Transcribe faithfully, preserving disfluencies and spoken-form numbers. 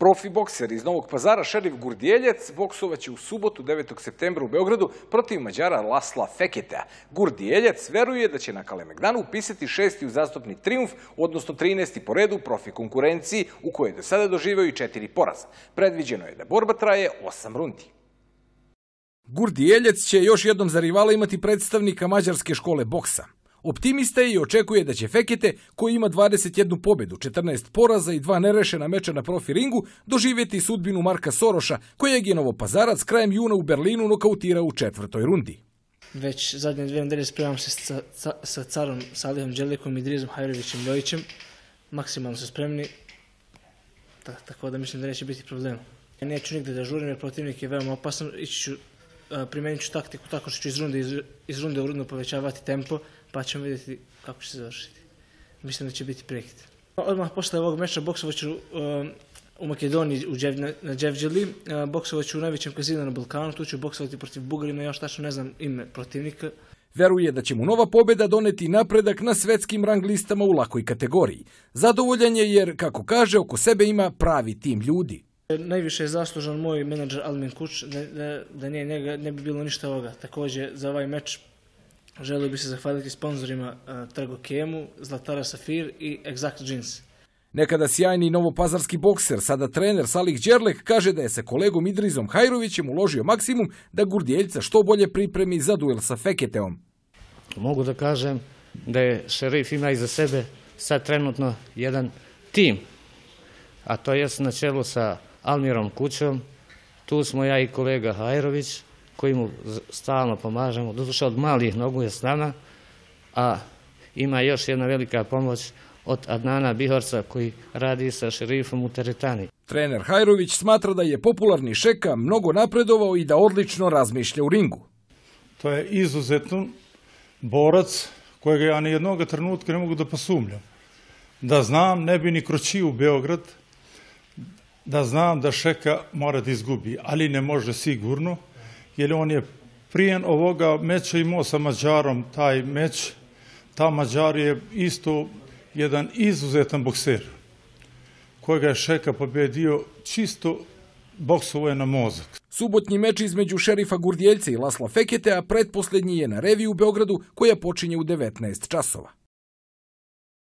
Profi bokser iz Novog Pazara Šerif Gurdijeljac boksovaće u subotu devetog septembra u Beogradu protiv Mađara Lasla Feketea. Gurdijeljac veruje da će na Kalemegdanu upisati šesti uzastopni trijumf, odnosno trinaesti po redu u profi konkurenciji u kojoj je do sada doživeo i četiri poraza. Predviđeno je da borba traje osam rundi. Gurdijeljac će još jednom za rivala imati predstavnika mađarske škole boksa. Optimista je i očekuje da će Fekete, koji ima dvadeset jednu pobedu, četrnaest poraza i dva nerešena meča na profi ringu, doživjeti sudbinu Marka Soroša, kojeg je Novopazarac krajem juna u Berlinu nokautirao u četvrtoj rundi. Već zadnje dvije nedelje spremam se sa, sa, sa carom Salihom Đerlikom i Drizom Hajrovićem Ljojićem. Maksimalno su spremni, ta, tako da mislim da neće biti problema. Neću nigde da žurim jer protivnik je veoma opasan. Ići ću, primenit ću taktiku tako što ću iz runde, iz, iz runde u rundu povećavati tempo, pa ćemo vidjeti kako će se završiti. Mislim da će biti prekid. Odmah posle ovog meča boksovaću um, u Makedoniji u Džev, na Dževđeli, uh, boksovaću u najvećem kazinu na Balkanu, tu ću boksovati protiv Bugarina, još tačno ne znam ime protivnika. Veruje da će mu nova pobjeda doneti napredak na svetskim rang listama u lakoj kategoriji. Zadovoljan je jer, kako kaže, oko sebe ima pravi tim ljudi. Najviše je zaslužan moj menadžer Almin Kuč, da, da, da nije njega ne bi bilo ništa ovoga. Također za ovaj meč želio bi se zahvaliti sponzorima uh, Tragokemu, Zlatara Safir i Exact Jeans. Nekada sjajni novopazarski bokser, sada trener Salih Đerlek, kaže da je sa kolegom Idrizom Hajrovićem uložio maksimum da Gurdijeljca što bolje pripremi za duel sa Feketeom. Mogu da kažem da je Šerif ima iza sebe sad trenutno jedan tim, a to je na čelu sa Almirom Kućom. Tu smo ja i kolega Hajrović, koji mu stalno pomažemo, doduše od malih nogu je s nama, a ima još jedna velika pomoć od Adnana Bihorca koji radi sa Šerifom u teretani. Trener Hajrović smatra da je popularni Šeka mnogo napredovao i da odlično razmišlja u ringu. To je izuzetan borac kojega ja ni jednog trenutka ne mogu da posumnjam. Da znam, ne bi ni kročio u Beograd, da znam da Šeka mora da izgubi, ali ne može sigurno, jer on je prije ovoga meča imao sa Mađarom taj meč. Ta Mađar je isto jedan izuzetan bokser, kojega je Šeka pobedio čisto boksovo je na mozak. Subotnji meč između Šerifa Gurdijeljca i Lasla Feketea pretposljednji je na reviji u Beogradu koja počinje u devetnaest časova.